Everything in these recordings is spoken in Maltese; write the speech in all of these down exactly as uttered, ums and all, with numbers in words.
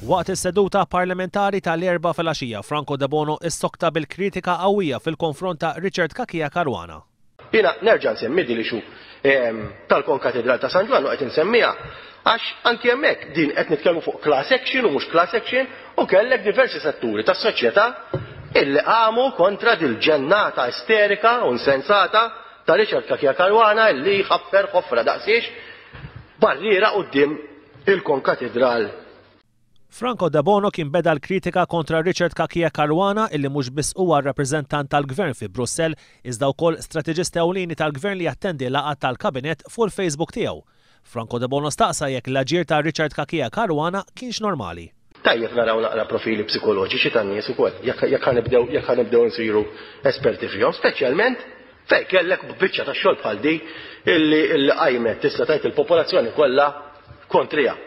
Waqt is-seduta parlamentari tal-Erbgħa filgħaxija, Franco Debono issokta bil-kritika qawwija fil-konfront ta' Richard Cachia Caruana. Jiena nerġa' nsemmi din l-issue tal-Konkatedral ta' San Ġwann u qed insemmiha għax anki hemmhekk din qed nitkellmu fuq class action u mhux class action u kellek diversi setturi tas-soċjetà illi qamu kontra dil-ġennata isterika u insensata ta' Richard Cachia Caruana illi ħaffer ħofra daqsiex barriera quddiem il-Konkatedral. Franco Debono kien beda l-kritika kontra Richard Cachia Caruana, illi mhux biss huwa rappreżentant tal-gvern fi Brussell iżda wkoll strateġista ewlieni tal-gvern li jattendi laqgħat tal-kabinet fuq il-Facebook tiegħu. Franco Debono staqsa jekk l-aġir ta' Richard Cachia Caruana kienx normali. Tajjeb naraw naqra profili psikoloġiċi tan-nies ukoll, jekk ħa nibdew jekk ħa nibdew nsiru esperti fihom, speċjalment fejn kellek biċċa ta' xogħol bħal di illi illi qajmet, tista' tgħid, il-popolazzjoni kollha kontriha.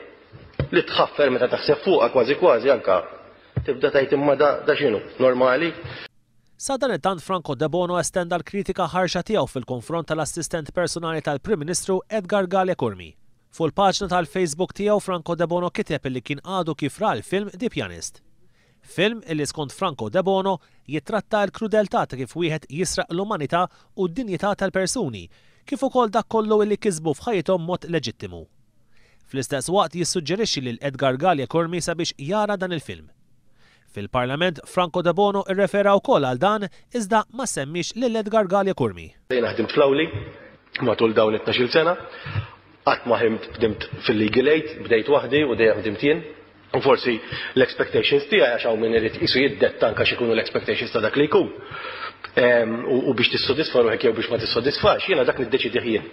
Li tħaffer, meta taħseb fuqha, kważi kważi anka tibda tgħid, imma da, da x'inhu, normali? Sadanittant, Franco Debono estenda l-kritika ħarxa tiegħu fil-konfront tal-assistent personali tal-Prim Ministru Edgar Galea Curmi. Fuq il-paġna tal-Facebook tiegħu, Franco Debono kiteb li kien għadu kif ra l-film The Pianist. Film illi skont Franco Debono jitratta l-krudeltà ta' kif wieħed jisraq l-umanità u d-dinjità tal-persuni, kif ukoll dak kollu illi kisbu f'ħajjithom mod leġittimu. Fl-istess waqt jissuġġerixxi lil Edgar Galea Curmi sabiex jara dan il-film. Fil-Parlament, Franco Debono irrefera wkoll għal dan iżda ma semmix lil Edgar Galea Curmi. Jiena ħdimt fl-awli matul dawn it-tnax-il sena, qatt ma ħdimt fil-legal aid, bdejt waħdi u dejjem ħdimt jien. U forsi l-expectations tiegħi, għax hawn min irid qisu jiddetta anke x'ikunu l-expectations ta' dak li jkun. U biex tissodisfa ruħek jew biex ma tissodisfax, jiena dak niddeċidih jien.